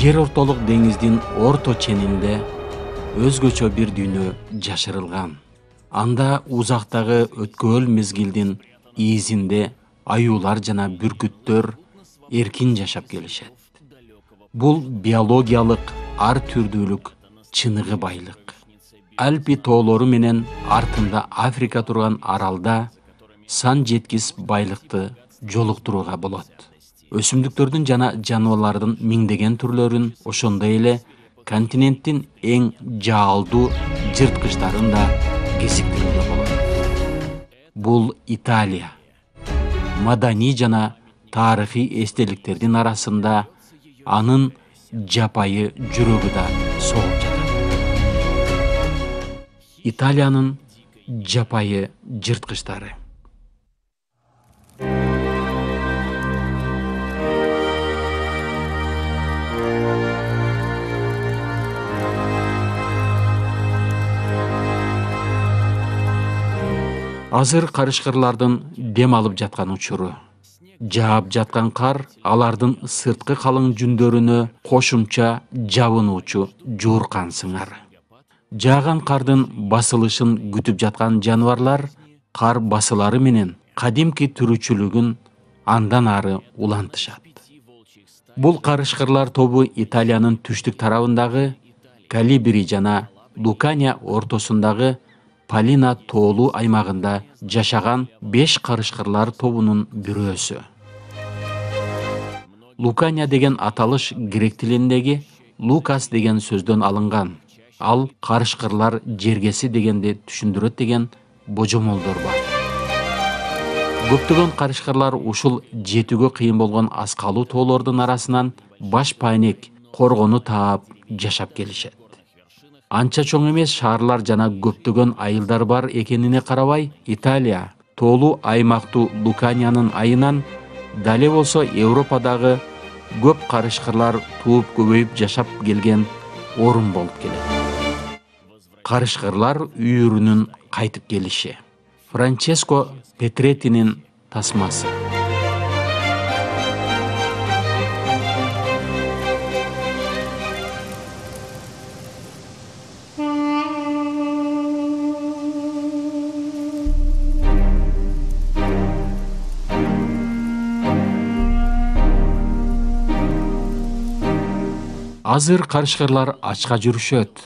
Жер ортолук деңиздин орто ченинде өзгөчө бир дүйнө жашырылган. Анда узактагы өткөөл мезгилдин изинде аюулар жана бүркүттөр эркин жашап келишет. Бул биологиялык ар түрдүүлүк чыныгы байлык. Альпи тоолору менен артында Африка турган аралда сан жеткис байлыкты жолуктурууга болот. Өсүмдүктөрдүн жана жаныбарлардын миңдеген түрлөрүн, ошондой эле континенттин эң жаалдуу жырткычтарын да кезиктирүүгө болот. Бул Италия. Маданий жана тарыхый эстеликтердин арасында анын жапайы жүрөгү да согуп жатат. Италиянын жапайы жырткычтары. Азыр карышкырлардын дем алып жаткан учуру. Жаап жаткан кар алардын сырткы калың жүндөрүнө кошумча жабынуучу жууркан сыңар. Жааган кардын басылышын күтүп жаткан жаныбарлар кар басылары менен кадимки түрүчүлүгүн андан ары улантышат. Бул карышкырлар тобу Италиянын түштүк тарабындагы Калибри жана Лукания ортосундагы Палина тоолуу аймагында жашаган 5 карышкырлар тобунун бирөөсү. Лукания деген аталыш грек тилиндеги Лукас деген сөздөн алынган. Ал карышкырлар жергеси дегенди түшүндүрөт деген божомолдор бар. Көптөгөн карышкырлар ушул жетүүгө кыйын болгон аскалуу тоолордун арасынан баш пайнек коргону таап жашап келишет. Анча чоң эмес шаарлар жана көптөгөн айылдар бар экенине карабай, Италия тоолуу аймактуу Луканиянын айынан дале болсо Европадагы көп карышкырлар тууп көбөйүп жашап келген орун болуп келет. Карышкырлар үйүрүнүн кайтып келиши. Франческо Петретинин тасмасы. Азыр карышкырлар ачка жүрүшөт.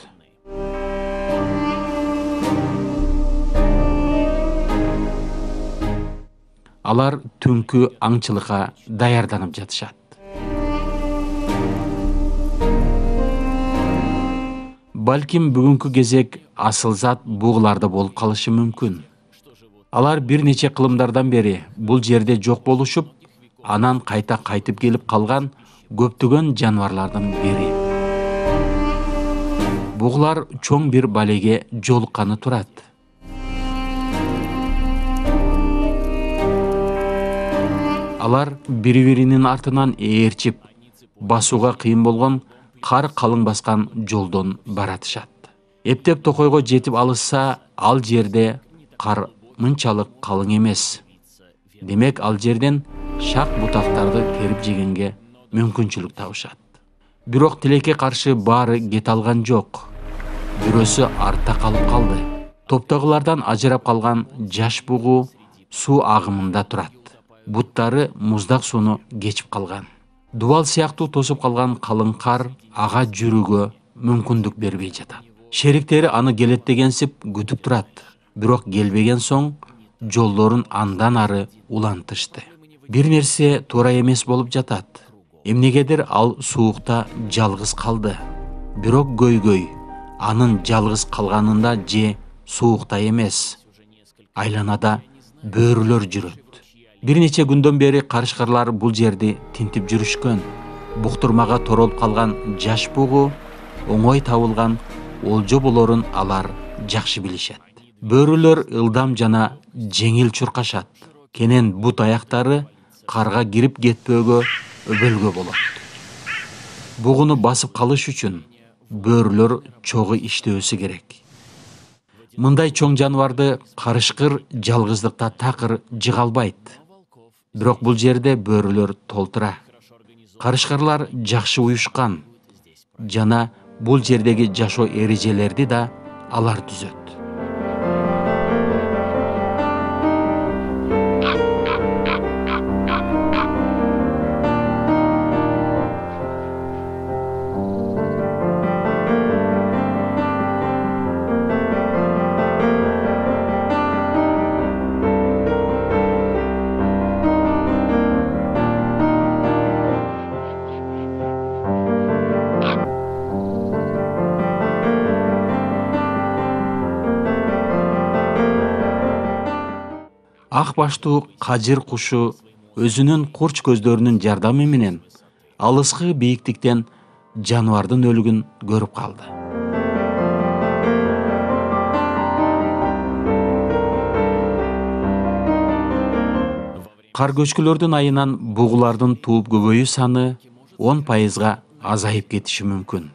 Алар түнкү аңчылыкка даярданып жатышат. Балким бүгүнкү кезек асыл зат бугуларда болуп калышы мүмкүн. Алар бир нече кылымдардан бери бул жерде жок болушуп, анан кайта кайтып келип калган көптөгөн жаныбарлардын бири. Бугулар чоң бир балеге жолукканы турат. Алар бири-биринин артынан ээрчип, басууга кыйын болгон кар калың баскан жолдон баратышат. Эптеп токойго жетип алышса, ал жерде кар мынчалык калың эмес. Демек ал жерден шак бутактарды терип жегенге мүмкүнчүлүк табышат. Бирок тилекке каршы баары кете алган жок. Бирөөсү артта калып калды. Топтогулардан ажырап калган жаш бугу суу агымында турат. Буттары муздак сууну кечип калган. Дубал сыяктуу тосуп калган калың кар ага жүрүүгө мүмкүндүк бербей жатат. Шериктери аны келет дегенсип күтүп турат. Бирок келбеген соң жолдорун андан ары улантышты. Бир нерсе туура эмес болуп жатат. Эмнегедир ал суукта жалгыз калды. Бирок көйгөй анын жалгыз калганында же суукта эмес. Айланада бөөрүлөр жүрөт. Бир нече күндөн бери карышкырлар бул жерди тинтип жүрүшкөн. Буктурмага торолуп калган жаш бугу оңой табылган олжо болорун алар жакшы билишет. Бөөрүлөр ылдам жана жеңил чуркашат. Кенен бут аяктары карга кирип кетпөөгө өбөлгө болот. Бугуну басып калыш үчүн бөөрүлөр чогуу иштөөсү керек. Мындай чоң жаныбарды карышкыр жалгыздыкта такыр жыга албайт. Бирок бул жерде бөөрүлөр толтура. Карышкырлар жакшы уюшкан. жана бул жердеги жашоо эрежелерди да алар түзөт. Ак баштуу кажыр кушу өзүнүн курч көздөрүнүн жардамы менен алыскы бийиктиктен жаныбардын өлүгүн көрүп калды. Кар көчкүлөрдүн айынан бугулардын тууп көбөйүү саны 10% азайып кетиши мүмкүн.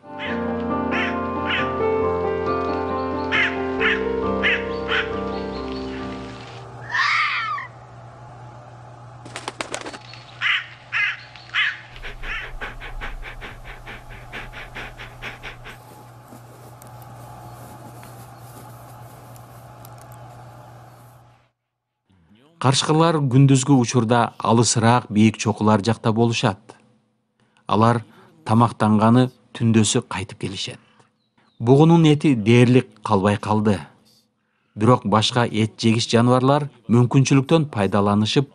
Карышкалар күндүзгү учурда алысыраак бийик чокулар жакта болушат. Алар тамактанганы түндөсү кайтып келишет. Бугунун эти дээрлик калбай калды. Бирок башка эт жегич жаныбарлар мүмкүнчүлүктөн пайдаланышып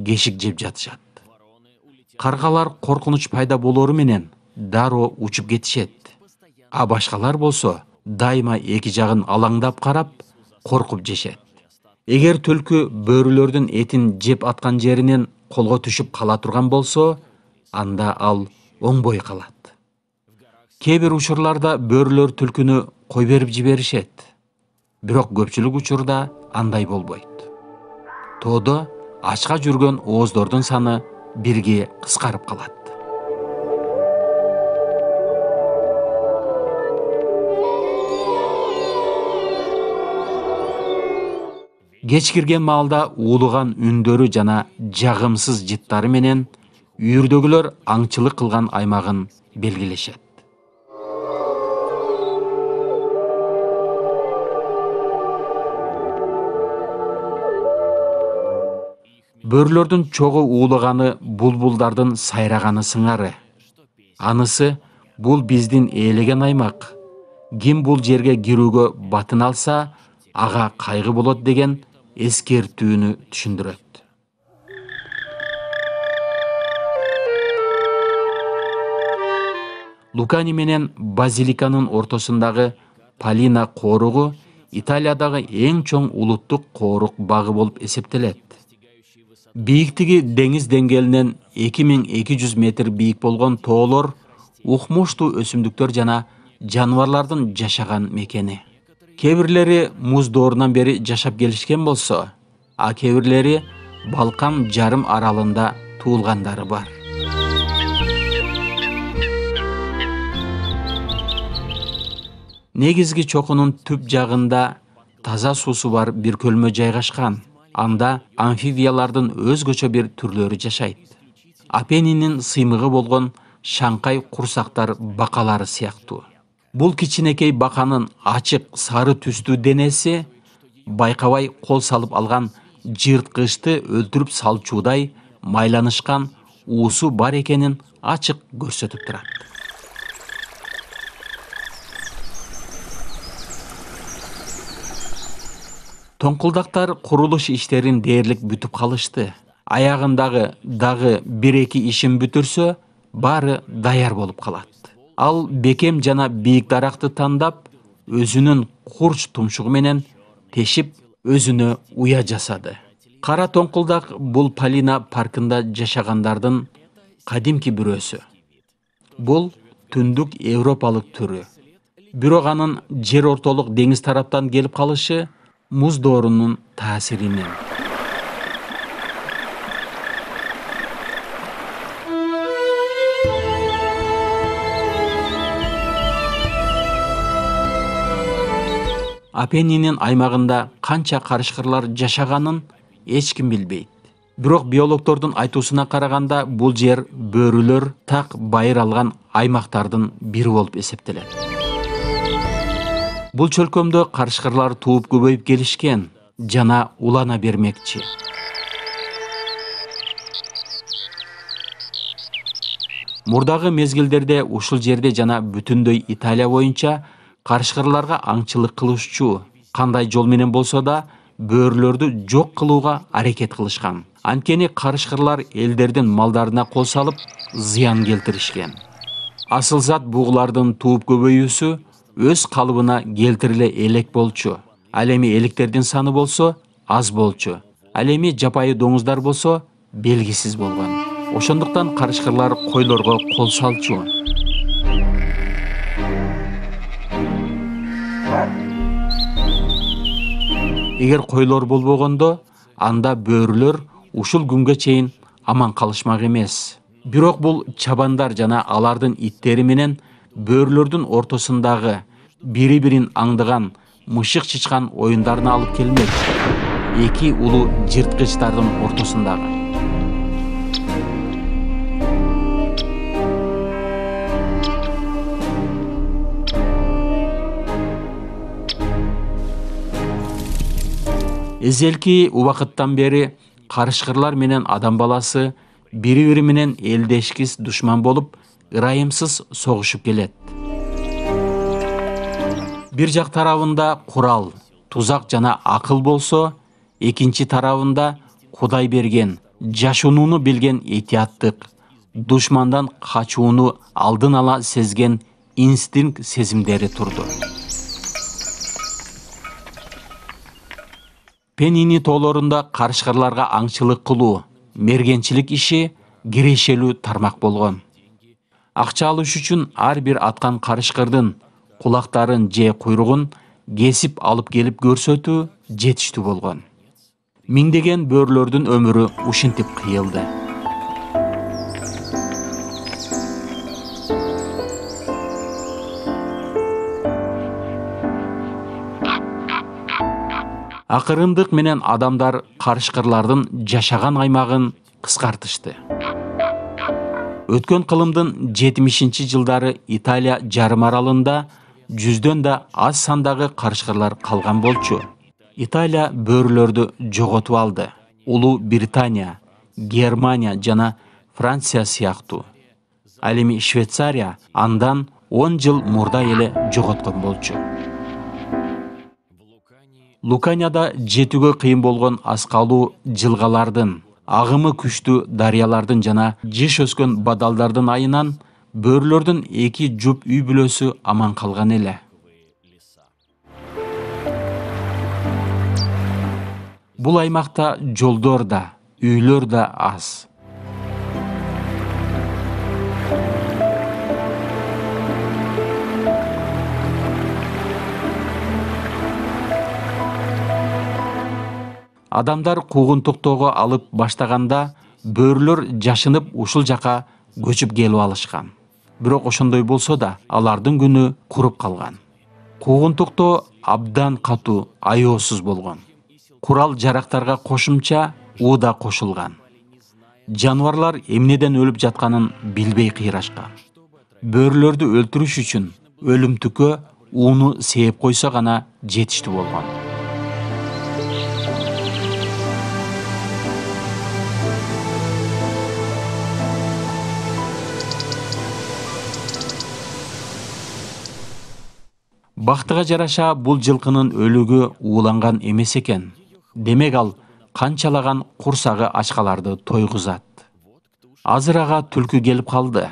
кешик жеп жатышат. Каргалар коркунуч пайда болору менен дароо учуп кетишет. А башкалар болсо дайыма эки жагын алаңдап карап, коркуп жешет. Эгер түлкү бөрүлөрдүн этин жеп аткан жеринен колго түшүп кала турган болсо, анда ал оңбой калат. Кээ бир учурларда бөрүлөр түлкүнү кой берип жиберишет. Бирок көпчүлүк учурда андай болбойт. Тоодо ачка жүргөн ооздордун саны бирге кыскарып калат. Кеч кирген маалда уулуган үндөрү жана жагымсыз жыттары менен үйүрдөгүлөр аңчылык кылган аймагын белгилешет. Бөрүлөрдүн чогуу уулуганы булбулдардын сайраганы сыңары. Анысы бул биздин ээлеген аймак. Ким бул жерге кирүүгө батын алса, ага кайгы болот деген эскертүүнү түшүндүрөт. Лукани менен Базиликанын ортосундагы Палина кооругу Италиядагы эң чоң улуттук коорук багы болуп эсептелет. Бийиктиги деңиз деңгээлинен 2200 метр бийик болгон тоолор укмуштуу өсүмдүктөр жана жаныбарлардын жашаган мекени. Кээ бирлери муз доорунан бери жашап келишкен болсо, а кээ бирлери Балкан жарым аралында туулгандары бар. Негизги чокунун түп жагында таза суусу бар бир көлмө жайгашкан. Анда амфибиялардын өзгөчө бир түрлөрү жашайт. Апеннинин сыймыгы болгон шаңкай курсактар бакалары сыяктуу. Бул кичинекей баканын ачык сары түстүү денеси байкабай кол салып алган жырткычты өлтүрүп салчуудай майланышкан уусу бар экенин ачык көрсөтүп турат. Тоңкулдактар курулуш иштерин дээрлик бүтүп калышты. Аягындагы дагы 1-2 ишин бүтүрсө, баары даяр болуп калат. Ал бекем жана бийик даракты тандап, өзүнүн курч тумшугу менен тешип, өзүнө уя жасады. Кара тоңкулдак бул Палина паркында жашагандардын кадимки бирөөсү. Бул түндүк европалык түрү. Бирок анын жер ортолук деңиз тараптан келип калышы муз доорунун таасиринен. Апеннинин аймагында канча карышкырлар жашаганын эч ким билбейт. Бирок биологдордун айтуусуна караганда бул жер бөрүлөр так байыр алган аймактардын бири болуп эсептелет. Бул чөлкөмдө карышкырлар тууп көбөйүп келишкен жана улана бермекчи. Мурдагы мезгилдерде ушул жерде жана бүтүндөй Италия боюнча карышкырларга аңчылык кылышчу кандай жол менен болсо да бөөрүлөрдү жок кылууга аракет кылышкан. Анткени карышкырлар элдердин малдарына кол салып зыян келтиришкен. Асыл зат бугулардын тууп көбөйүүсү өз калыбына келтириле элек болчу. Ал эми электердин саны болсо аз болчу. Ал эми жапайы доңуздар болсо белгисиз болгон. Ошондуктан карышкырлар койлорго кол салчу. Эгер койлор болбогондо, анда бөөрүлөр ушул күнгө чейин аман калышмак эмес. Бирок бул чабандар жана алардын иттери менен бөөрүлөрдүн ортосундагы бири-бирин аңдыган мышык-чычкан оюндарына алып келмек. Эки улуу жырткычтардын ортосундагы. Эзелки убакыттан бери карышкырлар менен адам баласы бири-бири менен элдешкис душман болуп, ырайымсыз согушуп келет. Бир жак тарабында курал, тузак жана акыл болсо, экинчи тарабында Кудай берген, жашынууну билген этияттык, душмандан качууну алдын ала сезген инстинкт сезимдери турду. Пенини тоолорунда карышкырларга аңчылык кылуу, мергенчилик иши кирешелүү тармак болгон. Акча алыш үчүн ар бир аткан карышкырдын кулактарын же куйругун кесип алып келип көрсөтүү жетиштүү болгон. Миңдеген бөөрүлөрдүн өмүрү ушинтип кыйылды. Акырындык менен адамдар карышкырлардын жашаган аймагын кыскартышты. Өткөн кылымдын 70-жылдары Италия жарым аралында жүздөн да аз сандагы карышкырлар калган болчу. Италия бөөрүлөрдү жоготуп алды. Улуу Британия, Германия жана Франция сыяктуу. Ал эми Швейцария андан 10 жыл мурда эле жоготкон болчу. Луканияда жетүүгө кыйын болгон аскалуу жылгалардын, агымы күчтүү дарыялардын жана жыш өскөн бадалдардын айынан бөөрүлөрдүн 2 жуп үй бүлөсү аман калган эле. Бул аймакта жолдор да, үйлөр да аз. Адамдар куугунтуктоого алып баштаганда бөөрүлөр жашынып ушул жака көчүп келип алышкан. Бирок ошондой болсо да, алардын күнү куруп калган. Куугунтуктоо абдан катуу, аеосуз болгон. Курал жарактарга кошумча уу да кошулган. Жаныбарлар эмнеден өлүп жатканын билбей кыйрашкан. Бөөрүлөрдү өлтүрүш үчүн өлүмтүккө ууну сээп койсо гана жетиштүү болгон. Бактыга жараша бул жылкынын өлүгү ууланган эмес экен. Демек ал канчалаган курсагы ачкаларды тойгузат. Азыр ага түлкү келип калды.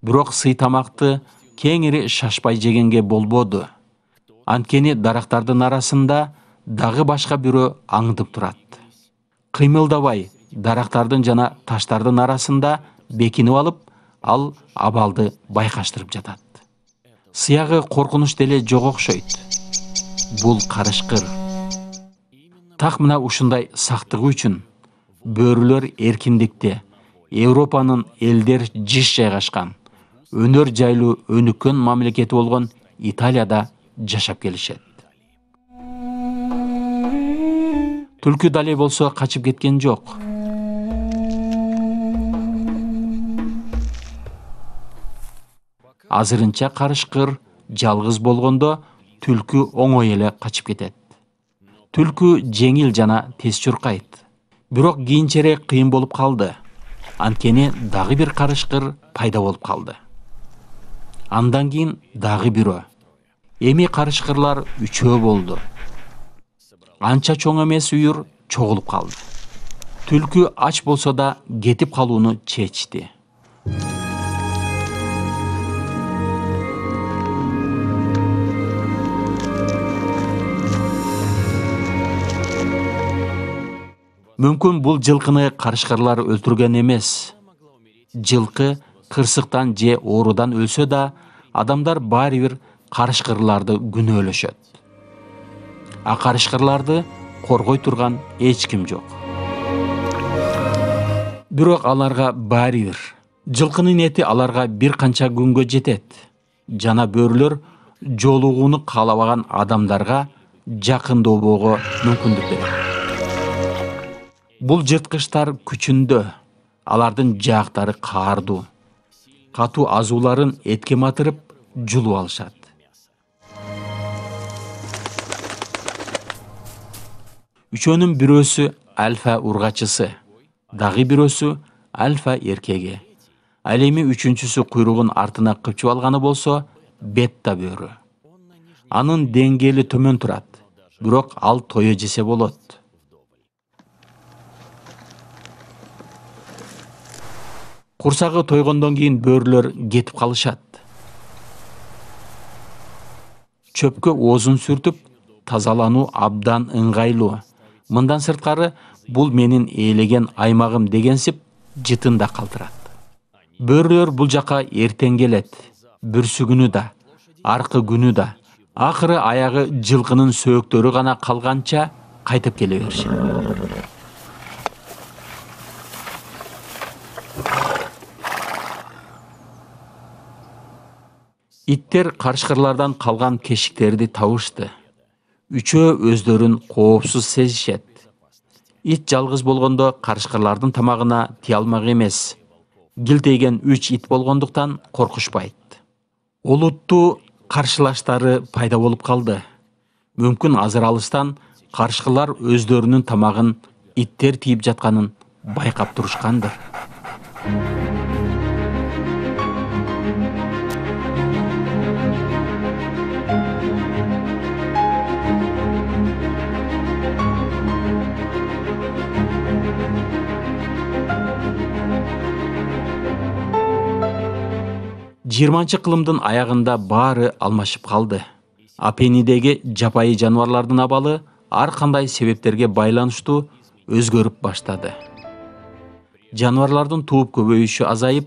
Бирок сый тамакты кеңири шашпай жегенге болбоду. Анткени дарактардын арасында дагы башка бирөө аңдып турат. Кыймылдабай дарактардын жана таштардын арасында бекинип алып, ал абалды байкаштырып жатат. Сыягы коркунуч деле жок окшойт. Бул карышкыр. Так мына ушундай сактыгы үчүн бөөрүлөр эркиндикте Европанын элдер жыш жайгашкан, өнөр жайлуу өнүккөн мамлекети болгон Италияда жашап келишет. Түлкү дале болсо качып кеткен жок. азырынча карышкыр жалгыз болгондо түлкү оңой эле качып кетет. Түлкү жеңил жана тез чуркайт. Бирок кийинчерээк кыйын болуп калды. Анткени дагы бир карышкыр пайда болуп калды. Андан кийин дагы бирөө. Эми карышкырлар үчөө болду. Анча чоң эмес үйүр чогулуп калды. Түлкү ач болсо да кетип калууну чечти. Мүмкүн бул жылкыны карышкырлар өлтүргөн эмес. Жылкы кырсыктан же оорудан өлсө да, адамдар баары бир карышкырларды күнөөлөшөт. А карышкырларды коргой турган эч ким жок. Бирок аларга баары бир. Жылкынын эти аларга бир канча күнгө жетет. Жана бөрүлөр жолугууну каалабаган адамдарга жакындообого мүмкүндүк берет. Бул жырткычтар күчүндө, алардын жаактары каардуу. Катуу азууларын этке матырып, жулуп алышат. Үчөөнүн бирөөсү альфа ургачысы, дагы бирөөсү альфа эркеги. Ал эми үчүнчүсү куйругун артына кыпчып алганы болсо бетта бөрү. Анын деңгээли төмөн турат, бирок ал тое жесе болот. Курсагы тойгондон кийин бөрүлөр кетип калышат. Чөпкө оозун сүртүп, тазалануу абдан ыңгайлуу. Мындан сырткары, бул менин ээлеген аймагым дегенсип жытын да калтырат. Бөрүлөр бул жака эртең келет, бүрсү күнү да, аркы күнү да. Акыры аягы жылкынын сөөктөрү гана калганча кайтып келе беришет. Иттер карышкырлардан калган кешиктерди табышты. Үчөө өздөрүн коопсуз сезишет. Ит жалгыз болгондо карышкырлардын тамагына тие алмак эмес. Гилтейген 3 ит болгондуктан коркушпайт. Олуттуу каршылаштары пайда болуп калды. Мүмкүн азыр алыстан карышкырлар өздөрүнүн тамагын иттер тийип жатканын байкап турушкандыр. Жыйырманчы кылымдын аягында баары алмашып калды. Апеннидеги жапайы жаныбарлардын абалы ар кандай себептерге байланыштуу өзгөрүп баштады. Жаныбарлардын тууп көбөйүшү азайып,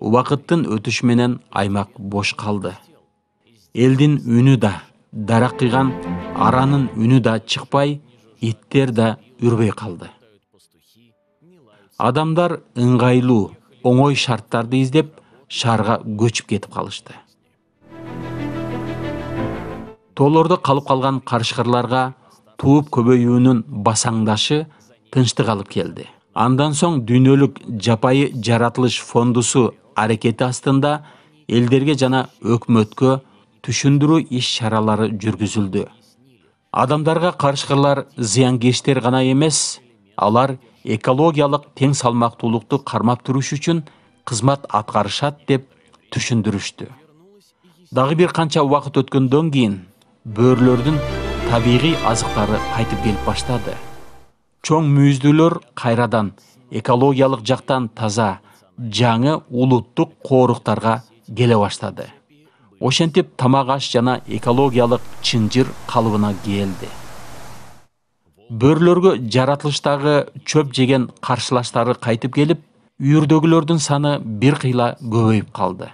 убакыттын өтүшү менен аймак бош калды. Элдин үнү да, дарак кыйган аранын үнү да чыкпай, иттер да үрбөй калды. Адамдар ыңгайлуу, оңой шарттарды издеп, шаарга көчүп кетип калышты. Тоолордо калып калган карышкырларга тууп көбөйүүнүн басаңдашы тынчтык алып келди. Андан соң дүйнөлүк жапайы жаратылыш фондусу аракети астында элдерге жана өкмөткө түшүндүрүү иш-чаралары жүргүзүлдү. Адамдарга карышкырлар зыянкечтер гана эмес, алар экологиялык тең салмактуулукту кармап туруш үчүн кызмат аткарышат деп түшүндүрүштү. Дагы бир канча убакыт өткөндөн кийин бөрүлөрдүн табигый азыктары кайтып келип баштады. Чоң мүйүздүүлөр кайрадан экологиялык жактан таза, жаңы улуттук кооруктарга келе баштады. Ошентип тамак аш жана экологиялык чынжыр калыбына келди. Бөрүлөргө жаратылыштагы чөп жеген каршылаштары кайтып келип, үйүрдөгүлөрдүн саны бир кыйла көбөйүп калды.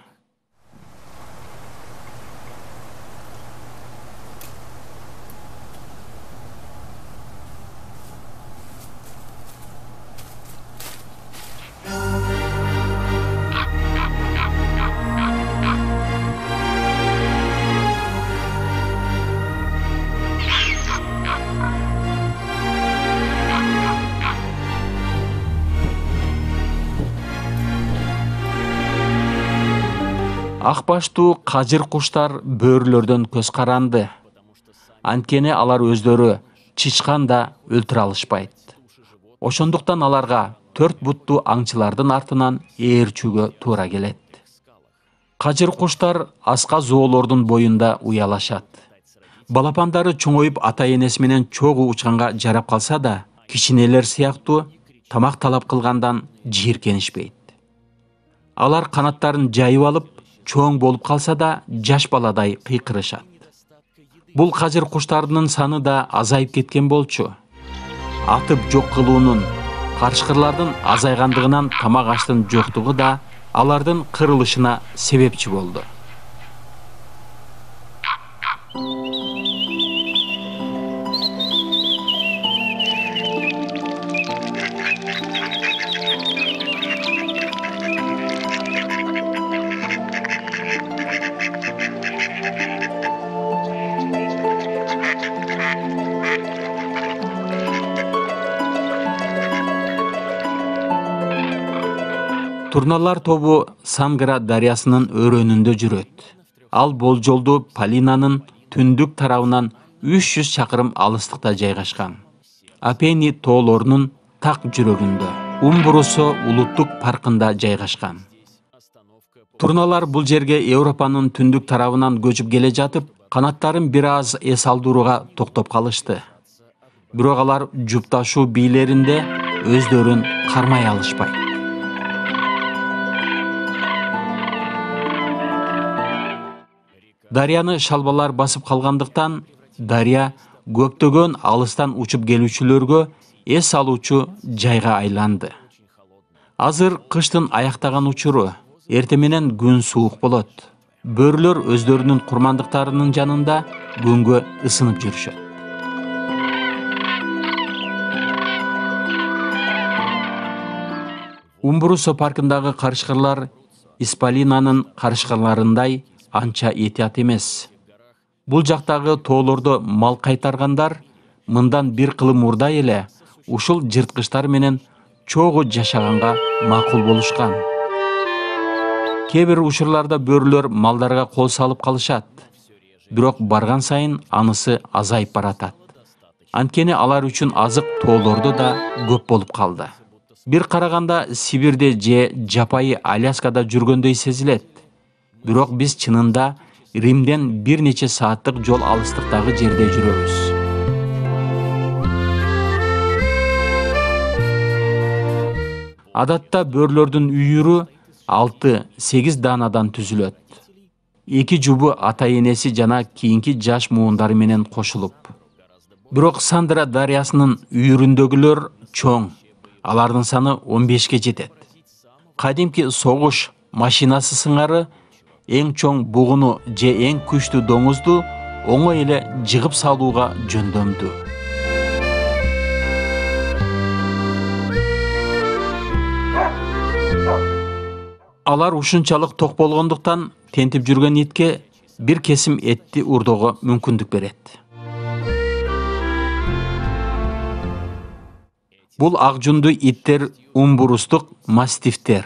Ак баштуу кажыр куштар бөөрүлөрдөн көз каранды. Анткени алар өздөрү чычкан да өлтүрө алышпайт. Ошондуктан аларга 4 буттуу аңчылардын артынан ээрчүүгө туура келет. Кажыр куштар аска зоолордун боюнда уялашат. Балапандары чоңоюп ата-энеси менен чогуу учканга жарап калса да, кичинелер сыяктуу тамак талап кылгандан жийиркенишпейт. Алар канаттарын жайып алып, чоң болуп калса да, жаш баладай кыйкырышат. Бул кажыр куштардын саны да азайып кеткен болчу. Атып жок кылуунун, карышкырлардын азайгандыгынан тамак аштын жоктугу да алардын кырылышына себепчи болду. Турналар тобу Сангра дарыясынын өрөөнүндө жүрөт. Ал болжолдуу Полинанын түндүк тарабынан 300 чакырым алыстыкта жайгашкан. Апени тоолорунун так жүрөгүндө, Умбрусо улуттук паркында жайгашкан. Турналар бул жерге Европанын түндүк тарабынан көчүп келе жатып, канаттарын бир аз эс алдырууга токтоп калышты. Бирок алар жупташуу бийлеринде өздөрүн кармай алышпайт. Дарыяны шалбалар басып калгандыктан, дарыя көптөгөн алыстан учуп келүүчүлөргө эс алуучу жайга айланды. Азыр кыштын аяктаган учуру, эртең менен күн суук болот. Бөөрүлөр өздөрүнүн курмандыктарынын жанында күнгө ысынып жүрүшөт. Умбрусо паркындагы карышкырлар Испалинанын карышкырларындай анча этият эмес. Бул жактагы тоолордо мал кайтаргандар мындан бир кылым мурда эле ушул жырткычтар менен чогуу жашаганга макул болушкан. Кээ бир учурларда бөөрүлөр малдарга кол салып калышат. Бирок барган сайын анысы азайып баратат. Анткени алар үчүн азык тоолордо да көп болуп калды. Бир караганда Сибирде же жапайы Аляскада жүргөндөй сезилет. Бирок биз чынында Римден бир нече сааттык жол алыстыктагы жерде жүрөбүз. Адатта бөөрүлөрдүн үйүрү 6-8 даанадан түзүлөт. 2 жубу ата-энеси жана кийинки жаш муундары менен кошулуп. Бирок Сандра дарыясынын үйүрүндөгүлөр чоң. Алардын саны 15ке жетет. Кадимки согуш машинасы сыңары эң чоң бугуну же эң күчтүү доңузду оңой эле жыгып салууга жөндөмдүү. Алар ушунчалык ток болгондуктан тентип жүргөн итке бир кесим этти урдоого мүмкүндүк берет. Бул ак жундуу иттер умбурустук мастифтер.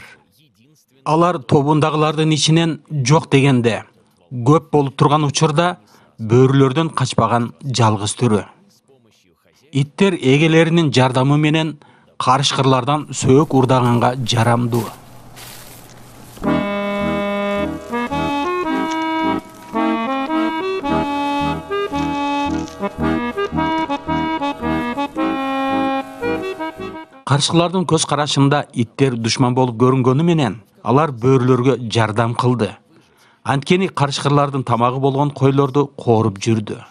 Алар тобундагылардын ичинен жок дегенде көп болуп турган учурда бөөрүлөрдөн качпаган жалгыз түрү. Иттер эгелеринин жардамы менен карышкырлардан сөөк урдаганга жарамдуу. Карышкылардын көз карашында иттер душман болуп көрүнгөнү менен алар бөөрүлөргө жардам кылды. Анткени карышкырлардын тамагы болгон койлорду кооруп жүрдү.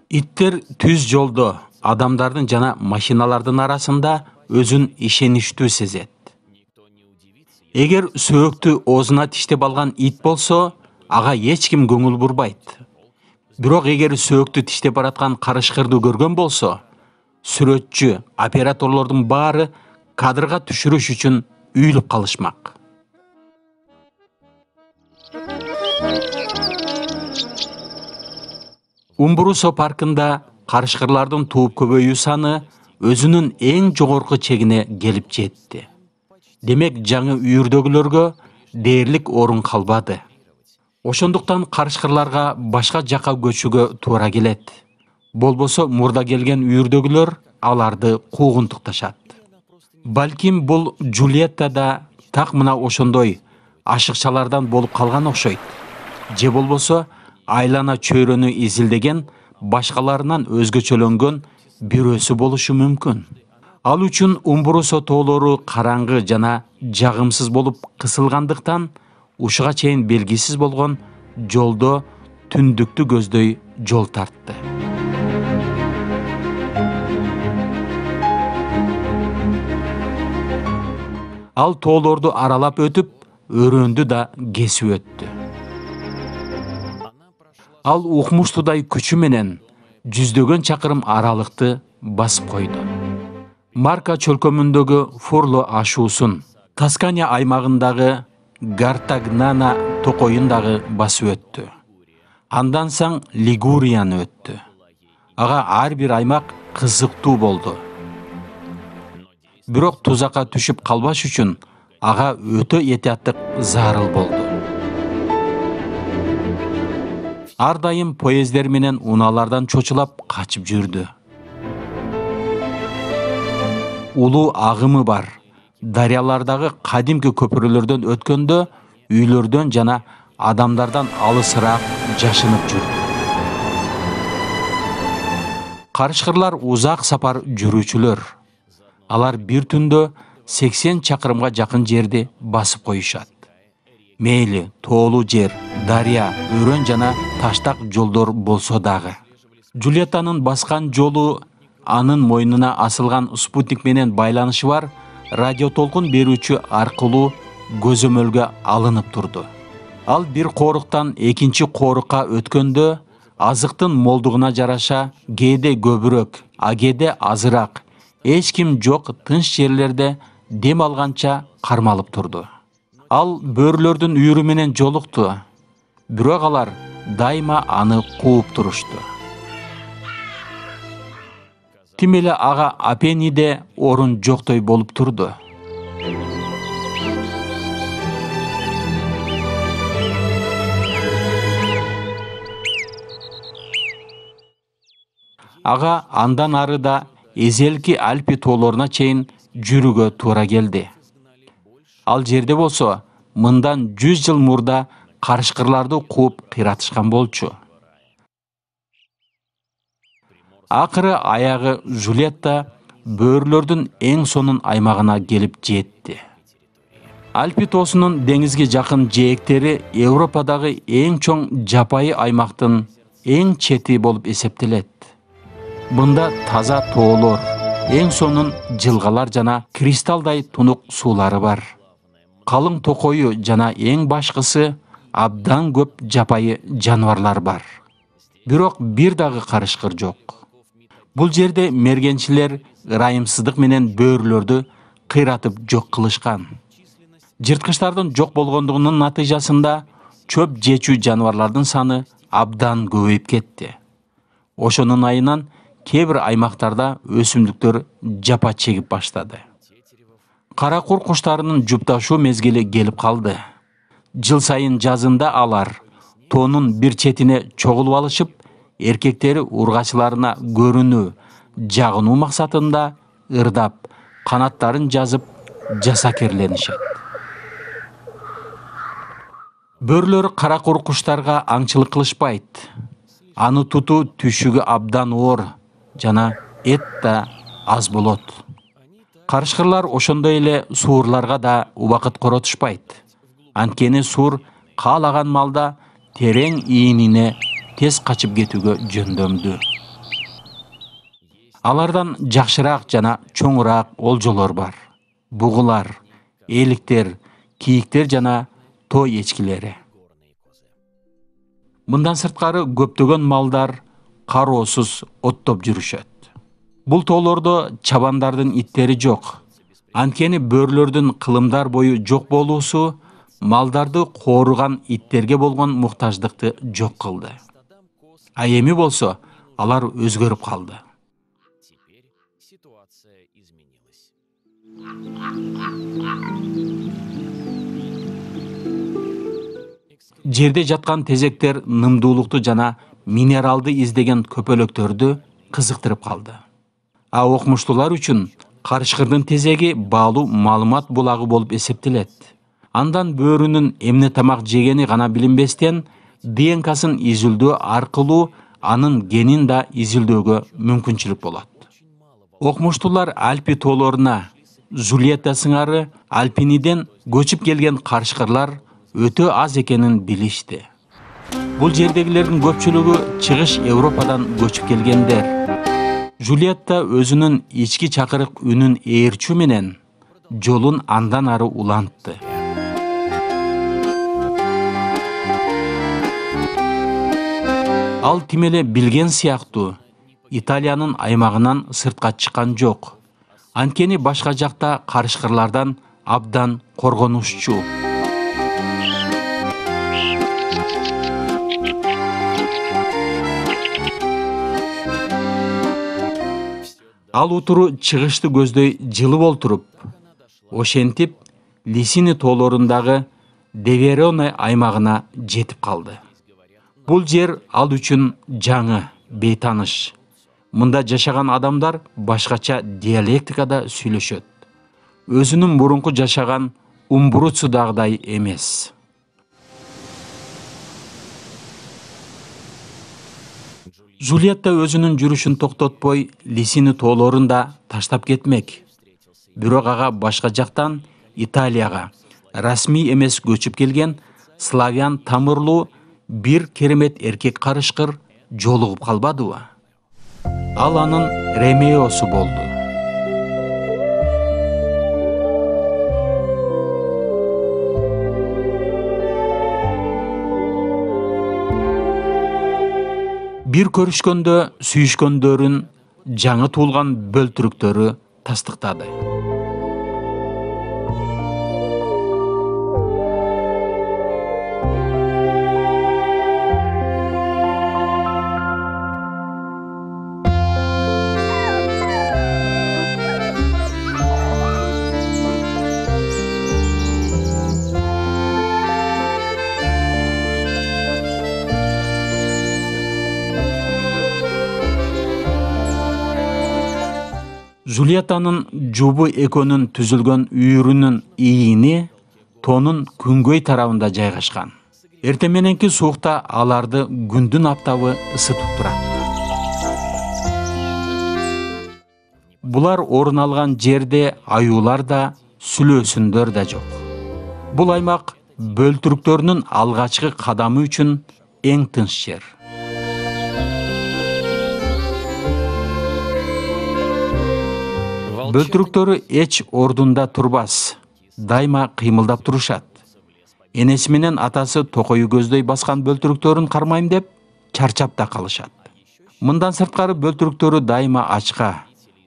Иттер түз жолдо адамдардын жана машиналардын арасында өзүн ишеничтүү сезет. Эгер сөөктү оозуна тиштеп алган ит болсо, ага эч ким көңүл бурбайт. Бирок эгер сөөктү тиштеп бараткан карышкырды көргөн болсо, сүрөтчү, операторлордун баары кадрга түшүрүш үчүн үйүлүп калышмак. Умбрусо паркында карышкырлардын тууп көбөйүү саны өзүнүн эң жогорку чегине келип жетти. Демек жаңы үйүрдөгүлөргө дээрлик орун калбады. Ошондуктан карышкырларга башка жака көчүүгө туура келет. Болбосо мурда келген үйүрдөгүлөр аларды куугунтукташат. Балким бул Джульетта да так мына ошондой ашыкчалардан болуп калган окшойт. Же болбосо айлана чөйрөнү изилдеген башкаларынан өзгөчөлөнгөн бирөөсү болушу мүмкүн. Ал үчүн Умбрусо тоолору караңгы жана жагымсыз болуп кысылгандыктан ушуга чейин белгисиз болгон жолдо түндүктү көздөй жол тартты. Ал тоолорду аралап өтүп, өрөөндү да кесип өттү. Ал укмуштуудай күчү менен жүздөгөн чакырым аралыкты басып койду. Марка чөлкөмүндөгү Фурло ашуусун, Тоскания аймагындагы Гартагнана токойун дагы басып өттү. Андан соң Лигурияны өттү. Ага ар бир аймак кызыктуу болду. Бирок тузакка түшүп калбаш үчүн ага өтө этияттык зарыл болду. Ар дайым поездер менен унаалардан чочулап качып жүрдү. Улуу агымы бар дарыялардагы кадимки көпүрөлөрдөн өткөндө үйлөрдөн жана адамдардан алысыраак жашынып жүрдү. Карышкырлар узак сапар жүрүүчүлөр. Алар бир түндө 80 чакырымга жакын жерди басып коюшат. Мейли тоолуу жер, дарыя, өрөн жана таштак жолдор болсо дагы. Джульеттанын баскан жолу анын мойнуна асылган спутник менен байланышы бар радиотолкун берүүчү аркылуу көзөмөлгө алынып турду. Ал бир кооруктан экинчи коорукка өткөндө азыктын молдугуна жараша кээде көбүрөөк, а кээде азыраак, эч ким жок тынч жерлерде дем алганча кармалып турду. Ал бөөрөлөрдүн үйүрү менен жолукту, бирок алар дайыма аны кууп турушту. Тим эле ага Апениде орун жоктой болуп турду. Ага андан ары да эзелки Альпи тоолоруна чейин жүрүүгө туура келди. Ал жерде болсо, мындан 100 жыл мурда карышкырларды кууп кыйратышкан болчу. Акыры аягы Жулетта бөөрөлөрдүн эң сонун аймагына келип жетти. Альпи тоосунун деңизге жакын жээктери Европадагы эң чоң жапайы аймактын эң чети болуп эсептелет. Мында таза тоолор, эң сонун жылгалар жана кристалдай тунук суулары бар. Калың токою жана эң башкысы абдан көп жапайы жаныбарлар бар. Бирок бир дагы карышкыр жок. Бул жерде мергенчилер ырайымсыздык менен бөөрөлөрдү кыйратып жок кылышкан. Жырткычтардын жок болгондугунун натыйжасында чөп жечүү жаныбарлардын саны абдан көбөйүп кетти. Ошонун айынан кээ бир аймактарда өсүмдүктөр жапа чегип баштады. Кара кур куштарынын жупташуу мезгили келип калды. Жыл сайын жазында алар тоонун бир четине чогулуп алышып, эркектери ургачыларына көрүнүү, жагынуу максатында ырдап, канаттарын жазып жасакерленишет. Бөөрөлөр кара кур куштарга аңчылык кылышпайт. Аны тутуу түшүгү абдан оор жана эт да аз болот. Карышкырлар ошондой эле суурларга да убакыт коротушпайт. Анткени суур каалаган малда терең ийинине тез качып кетүүгө жөндөмдүү. Алардан жакшыраак жана чоңураак олжолор бар. Бугулар, эликтер, кийиктер жана тоо эчкилери. Мындан сырткары көптөгөн малдар кароосуз оттоп жүрүшөт. Бул тоолордо чабандардын иттери жок. Анткени бөөрөлөрдүн кылымдар бою жок болуусу малдарды кооруган иттерге болгон муктаждыкты жок кылды. А эми болсо алар өзгөрүп калды. Теперь ситуация изменилась. Жерде жаткан тезектер нымдуулукту жана минералды издеген көпөлөктөрдү кызыктырып калды. А окумуштуулар үчүн карышкырдын тезеги баалуу маалымат булагы болуп эсептелет. Андан бөөрүнүн эмне тамак жегени гана билинбестен, ДНК-сын изилдөө аркылуу анын генин да изилдөөгө мүмкүнчүлүк болот. Окумуштуулар Альпи тоолоруна Жульетта сыңары Альпиниден көчүп келген карышкырлар өтө аз экенин билишти. Бул жердегилердин көпчүлүгү чыгыш Европадан көчүп келгендер. Жульетта өзүнүн ички чакырык үнүн ээрчүү менен жолун андан ары улантты. Ал тим эле билген сыяктуу Италиянын аймагынан сыртка чыккан жок. Анткени башка жакта карышкырлардан абдан коргонуччу. Ал утуру чыгышты көздөй жылы болтуруп, ошентип Лисини тоолорундагы Девероне аймагына жетип калды. Бул жер ал үчүн жаңы, бейтаныш. Мында жашаган адамдар башкача диалектикада сүйлөшөт. Өзүнүн мурунку жашаган Умбруцудагыдай эмес. Жульетта өзүнүн жүрүшүн токтотпой Лисини тоолорун да таштап кетмек. Бирок ага башка жактан Италияга расмий эмес көчүп келген славян тамырлуу бир керемет эркек карышкыр жолугуп калбадыбы? Ал анын Ремеосу болду. Бир көрүшкөндө сүйүшкөндөрүн жаңы туулган бөлтүрүктөрү тастыктады. Жульеттанын жубу экөнүн түзүлгөн үйүрүнүн ийини тоонун күнгөй тарабында жайгашкан. Эртең мененки суукта аларды күндүн аптабы ысытып турат. Булар орун алган жерде аюулар да, сүлөөсүндөр да жок. Бул аймак бөлтүрүктөрүнүн алгачкы кадамы үчүн эң тынч жер. Бөлтүрүктөрү эч ордунда турбас, дайыма кыймылдап турушат. Энеси менен атасы токою көздөй баскан бөлтүрүктөрүн кармайм деп чарчап да калышат. Мындан сырткары бөлтүрүктөрү дайыма ачка.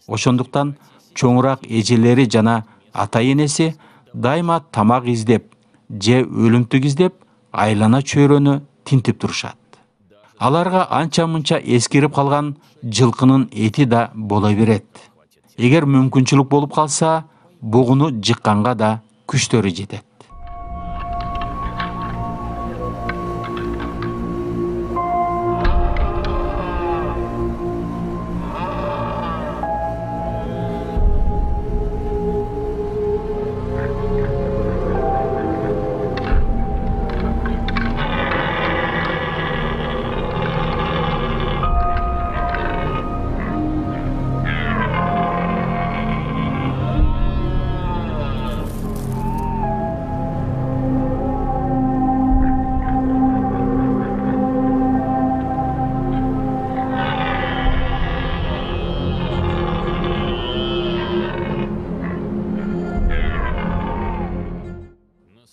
Ошондуктан чоңураак эжелери жана ата-энеси дайыма тамак издеп же өлүмтүк издеп айлана чөйрөнү тинтип турушат. Аларга анча-мынча эскирип калган жылкынын эти да боло берет. Эгер мүмкүнчүлүк болуп калса, бугуну жыкканга да күчтөрү жетет.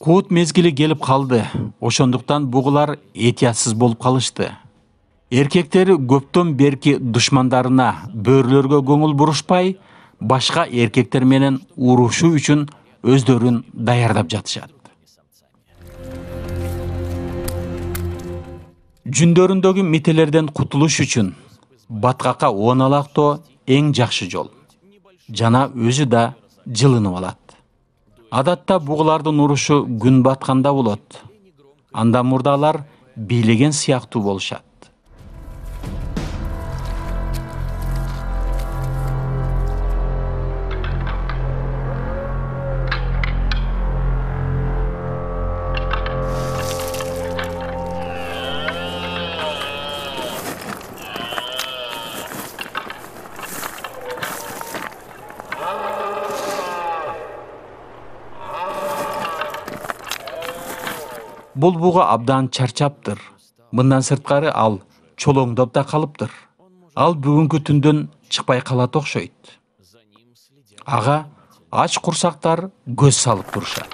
Куут мезгили келип калды. Ошондуктан бугулар этиятсыз болуп калышты. Эркектери көптөн берки душмандарына, бөөрлөргө көңүл бурушпай, башка эркектер менен урушуу үчүн өздөрүн даярдап жатышат. Жүндөрүндөгү мителерден кутулуш үчүн баткакка оналактоо эң жакшы жол. Жана өзү да жылынып алат. Адатта бугулардын урушу күн батканда болот. Андан мурда алар бийлеген сыяктуу болушат. Бул буга абдан чарчаптыр. Мындан сырткары ал чолоңдоп да калыптыр. Ал бүгүнкү түндөн чыкпай калат окшойт. Ага ач курсактар көз салып турушат.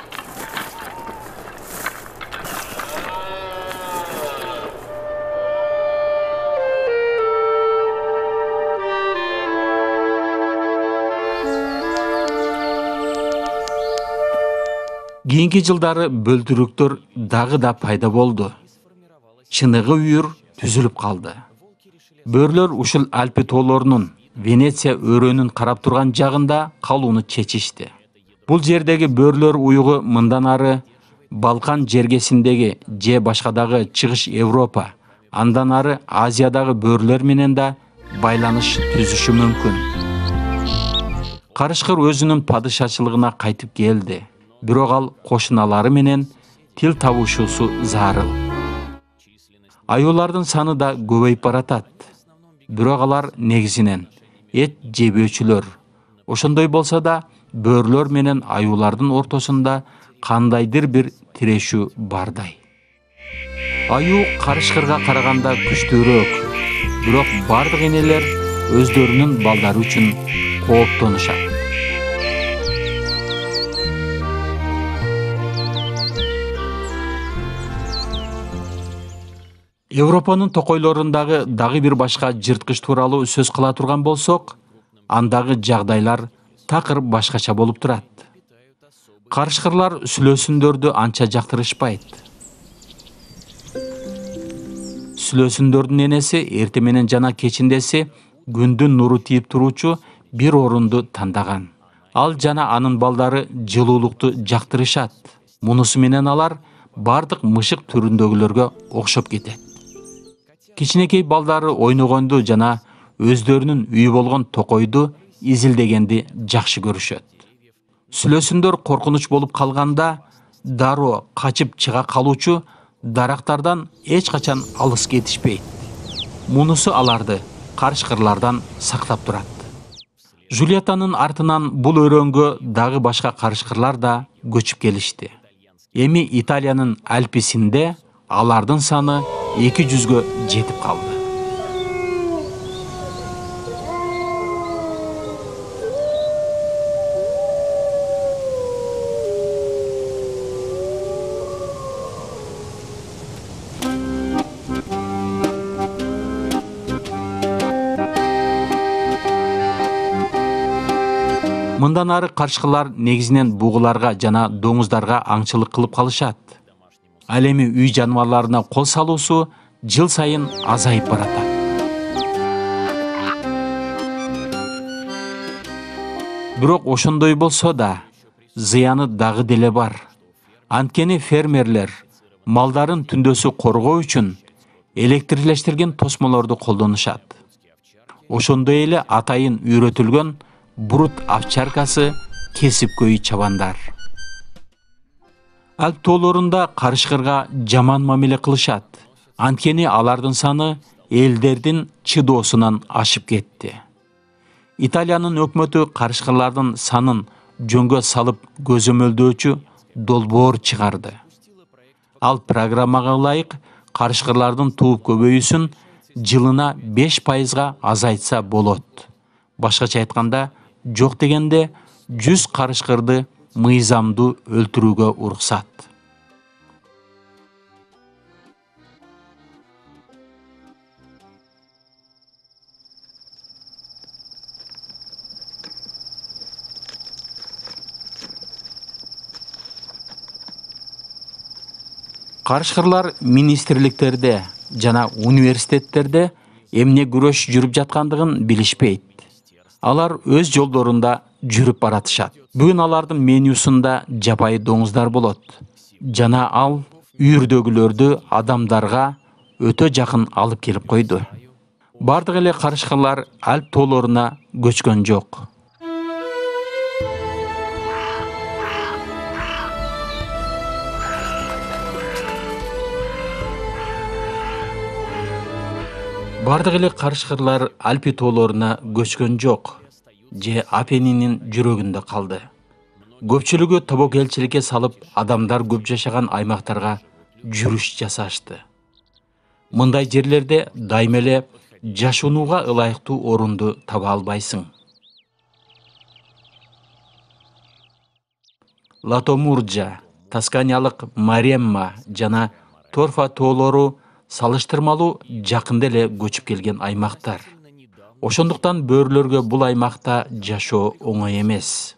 Кийинки жылдары бөлтүрүктөр дагы да пайда болду. Чыныгы үйүр түзүлүп калды. Бөрлөр ушул Альпи тоолорунун Венеция өрөөнүн карап турган жагында калууну чечишти. Бул жердеги бөрлөр уюгу мындан ары Балкан жергесиндеги же башка дагы Чыгыш Европа, андан ары Азиядагы бөрлөр менен да байланыш түзүшү мүмкүн. Карышкыр өзүнүн падышачылыгына кайтып келди. Бирок ал кошуналары менен тил табышуусу зарыл. Аюулардын саны да көбөйүп баратат. Бирок алар негизинен эт жебөөчүлөр. Ошондой болсо да бөрлөр менен аюулардын ортосунда кандайдыр бир тирешүү бардай. Аюу карышкырга караганда күчтүүрөөк. Бирок бардык энелер өздөрүнүн балдары үчүн кооптонушат. Европанын токойлорундагы дагы бир башка жырткыч тууралуу сөз кыла турган болсок, андагы жагдайлар такыр башкача болуп турат. Карышкырлар сүлөөсүндөрдү анча жактырышпайт. Сүлөөсүндөрдүн энеси эрте менен жана кечиндеси күндүн нуру тийип туруучу бир орунду тандаган. Ал жана анын балдары жылуулукту жактырышат. Мунусу менен алар бардык мышык түрүндөгүлөргө окшоп кетет. Кичинекей балдары ойногонду жана өздөрүнүн үйү болгон токойду изилдегенди жакшы көрүшөт. Сүлөөсүндөр коркунуч болуп калганда дароо качып чыга калуучу дарактардан эч качан алыс кетишпейт. Мунусу аларды карышкырлардан сактап турат. Жульеттанын артынан бул өрөөнгө дагы башка карышкырлар да көчүп келишти. Эми Италиянын Альписинде алардын саны 200-гө жетип калды. Мындан ары карышкырлар негизинен бугуларга жана доңуздарга аңчылык кылып калышат. Ал эми үй жаныбарларына кол салуусу жыл сайын азайып баратат. Бирок ошондой болсо да зыяны дагы деле бар. Анткени фермерлер малдарын түндөсү коргоо үчүн электрлештирген тосмолорду колдонушат. Ошондой эле атайын үйрөтүлгөн бурут овчаркасы, кесипкөй чабандар. Альп тоолорунда карышкырга жаман мамиле кылышат. Анткени алардын саны элдердин чыдоосунан ашып кетти. Италиянын өкмөтү карышкырлардын санын жөнгө салып көзөмөлдөөчү долбоор чыгарды. Ал программага ылайык карышкырлардын тууп көбөйүүсүн жылына 5%-га азайтса болот. Башкача айтканда, жок дегенде 100 карышкырды мыйзамдуу өлтүрүүгө уруксат. Карышкырлар министрликтерде, жана университеттерде эмне күрөш жүрүп жаткандыгын билишпейт. Алар өз жолдорунда жүрүп баратышат. Бүгүн алардын менюсунда жапайы доңуздар болот. Жана ал үйүрдөгүлөрдү адамдарга өтө жакын алып келип койду. Бардык эле карышкырлар Альп тоолоруна көчкөн жок. Бардык эле карышкырлар Альпи тоолоруна көчкөн жок, же Апенниндин жүрөгүндө калды. Көпчүлүгү тобокелчиликке салып, адамдар көп жашаган аймактарга жүрүш жасашты. Мындай жерлерде дайыма эле жашоонууга ылайыктуу орунду таба албайсың. Латомурджа, Тосканиялык Маремма жана Торфа тоолору салыштырмалуу жакында эле көчүп келген аймактар. Ошондуктан бөөрөлөргө бул аймакта жашоо оңой эмес.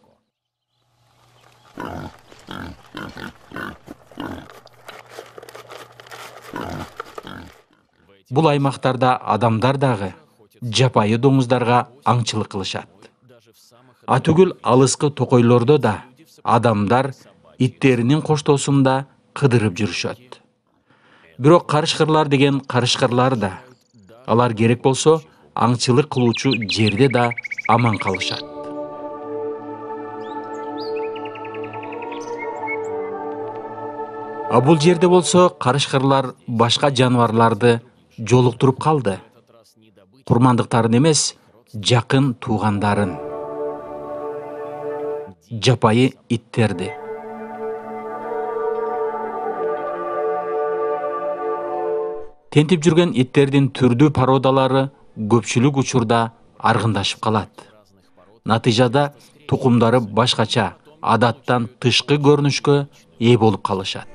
Бул аймактарда адамдар дагы жапайы доңуздарга аңчылык кылышат. Атүгүл алыскы токойлордо да адамдар иттеринин коштоосунда кыдырып жүрүшөт. Бирок карышкырлар деген карышкырлар да. Алар керек болсо аңчылык кылуучу жерде да аман калышат. А бул жерде болсо карышкырлар башка жаныбарларды жолуктуруп калды. Курмандыктарын эмес, жакын туугандарын. Жапайы иттерди. Тентип жүргөн иттердин түрдүү породалары көпчүлүк учурда аргындашып калат. Натыйжада тукумдары башкача, адаттан тышкы көрүнүшкө ээ болуп калышат.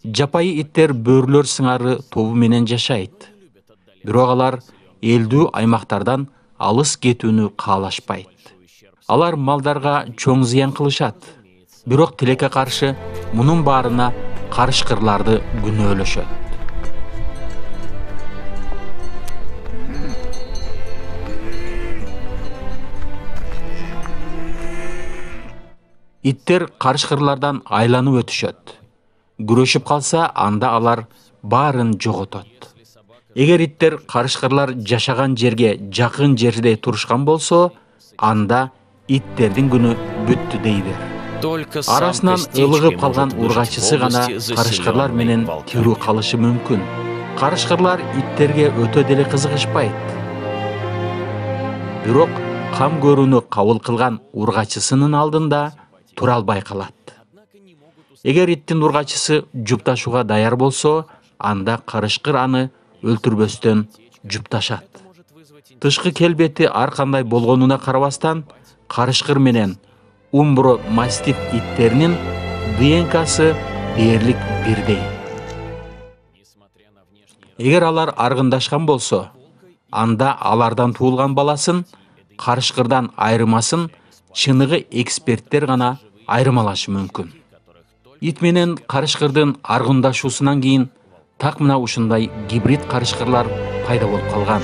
Жапайы иттер бөөрөлөр сыңары тобу менен жашайт. Бирок алар элдүү аймактардан алыс кетүүнү каалашпайт. Алар малдарга чоң зыян кылышат. Бирок тилекке каршы мунун баарына карышкырларды күнөөлөшөт. Иттер карышкырлардан айланып өтүшөт. Күрөшүп калса, анда алар баарын жоготот. Эгер иттер карышкырлар жашаган жерге жакын жерде турушкан болсо, анда иттердин күнү бүттү дейбир. Арасынан ылыгып калган ургачысы гана карышкырлар менен тирүү калышы мүмкүн. Карышкырлар иттерге өтө деле кызыгышпайт. Бирок кам көрүүнү кабыл кылган ургачысынын алдында тура албай калат. Эгер иттин ургачысы жупташууга даяр болсо, анда карышкыр аны өлтүрбөстөн жупташат. Тышкы келбети ар кандай болгонуна карабастан, карышкыр менен умбро мастиф иттеринин ДНКсы дээрлик бирдей. Эгер алар аргындашкан болсо, анда алардан туулган баласын карышкырдан айырмасын чыныгы эксперттер гана айырмалашы мүмкүн. Ит менен карышкырдын аргындашуусунан кийин так мына ушундай гибрид карышкырлар пайда болуп калган.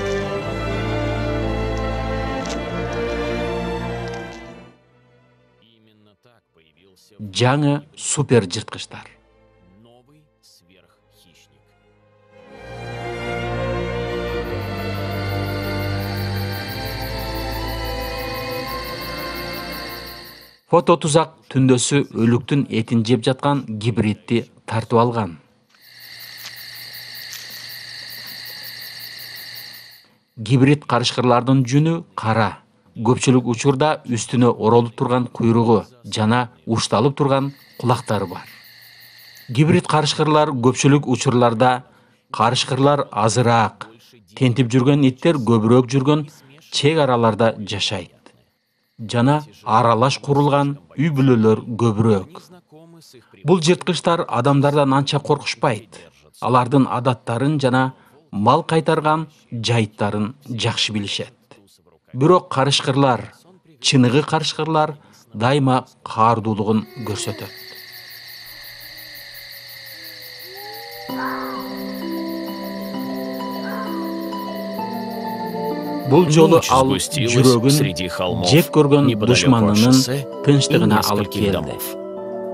Жаңы супер жырткычтар. Фото тузак түндөсү өлүктүн этин жеп жаткан гибридти тартып алган. Гибрид карышкырлардын жүнү кара. Көпчүлүк учурда үстүнө оролуп турган куйругу жана ушталып турган кулактары бар. Гибрид карышкырлар көпчүлүк учурларда карышкырлар азыраак, тентип жүргөн иттер көбүрөөк жүргөн чек араларда жашайт. Жана аралаш курулган үй бүлөлөр көбүрөөк. Бул жырткычтар адамдардан анча коркушпайт. Алардын адаттарын жана мал кайтарган жайыттарын жакшы билишет. Бирок карышкырлар, чыныгы карышкырлар дайыма каардуулугун көрсөтөт. Бул жолу ал жүрөгүн жек көргөн душманынын тынчтыгына алып келди.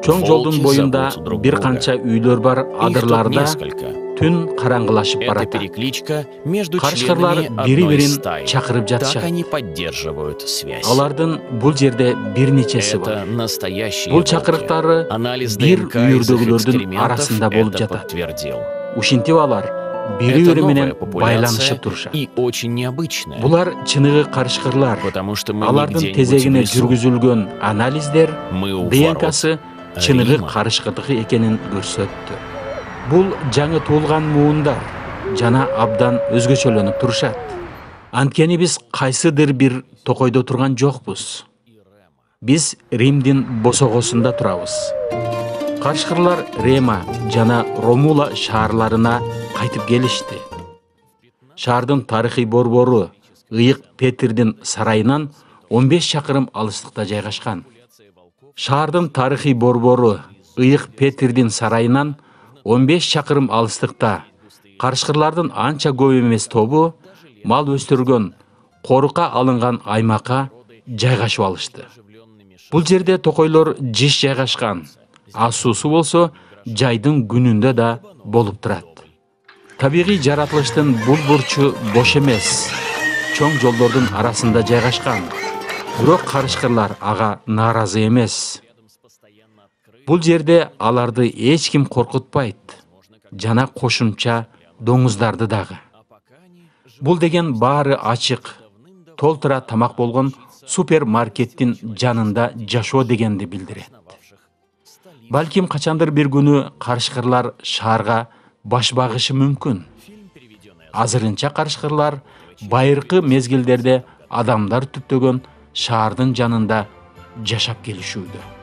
Чоң жолдун боюнда бир канча үйлөр бар адырларда түн караңгылашып барат. Карышкырлар бири-бирин чакырып жатышат. Алардын бул жерде бир нечеси бар. Бул чакырыктары бир үйүрдөгүлөрдүн арасында болуп жатат. Ушинтип алар бири-бири менен байланышып турушат. Булар чыныгы карышкырлар. Алардын тезегине жүргүзүлгөн анализдер ДНКсы чыныгы карышкырдыкы экенин көрсөттү. Бул жаңы туулган муундар жана абдан өзгөчөлөнүп турушат. Анткени биз кайсыдыр бир токойдо турган жокпуз. Биз Римдин босогосунда турабыз. Карышкырлар Рема жана Ромула шаарларына кайтып келишти. Шаардын тарыхый борбору Ыйык Петрдин сарайынан 15 чакырым алыстыкта жайгашкан. Шаардын тарыхый борбору Ыйык Петрдин сарайынан 15 чакырым алыстыкта карышкырлардын анча көп эмес тобу мал өстүргөн, корука алынган аймакка жайгашып алышты. Бул жерде токойлор жиш жайгашкан, суусу болсо жайдын күнүндө да болуп турат. Табигый жаратылыштын бул бурчу бош эмес, чоң жолдордун арасында жайгашкан. Бирок карышкырлар ага нааразы эмес. Бул жерде аларды эч ким коркутпайт, жана кошумча доңуздарды дагы. Бул деген баары ачык, толтура тамак болгон супермаркеттин жанында жашоо дегенди билдирет. Балким качандыр бир күнү карышкырлар шаарга баш багышы мүмкүн. Азырынча карышкырлар байыркы мезгилдерде адамдар түптөгөн шаардын жанында жашап келишүүдө.